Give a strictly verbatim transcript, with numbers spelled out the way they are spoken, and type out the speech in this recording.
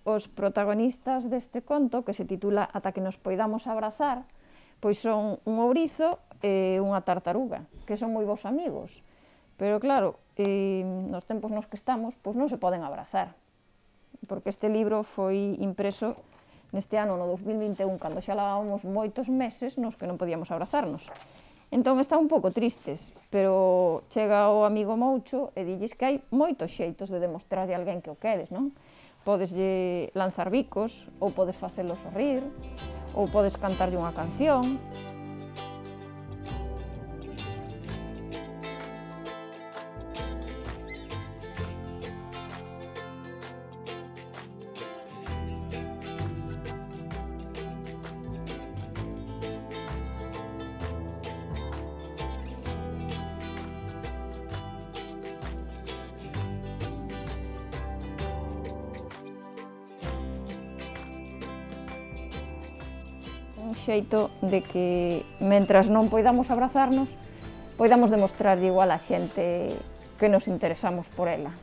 Os protagonistas deste conto, que se titula Ata que nos poidamos abrazar, pois son un ourizo e unha tartaruga, que son moi bons amigos. Pero claro, eh, nos tempos nos que estamos, pois non se poden abrazar, porque este libro foi impreso neste ano, no dos mil vinte e un, cando xa levábamos moitos meses nos que non podíamos abrazarnos. Entón están un pouco tristes, pero chega o amigo Moucho e dilles que hai moitos xeitos de demostrarlle a alguén que o queres, non? Podeslle lanzar bicos, ou podes facelo sorrir, ou podes cantarlle unha canción. Un xeito de que, mentras non poidamos abrazarnos, poidamos demostrarlle igual á xente que nos interesamos por ela.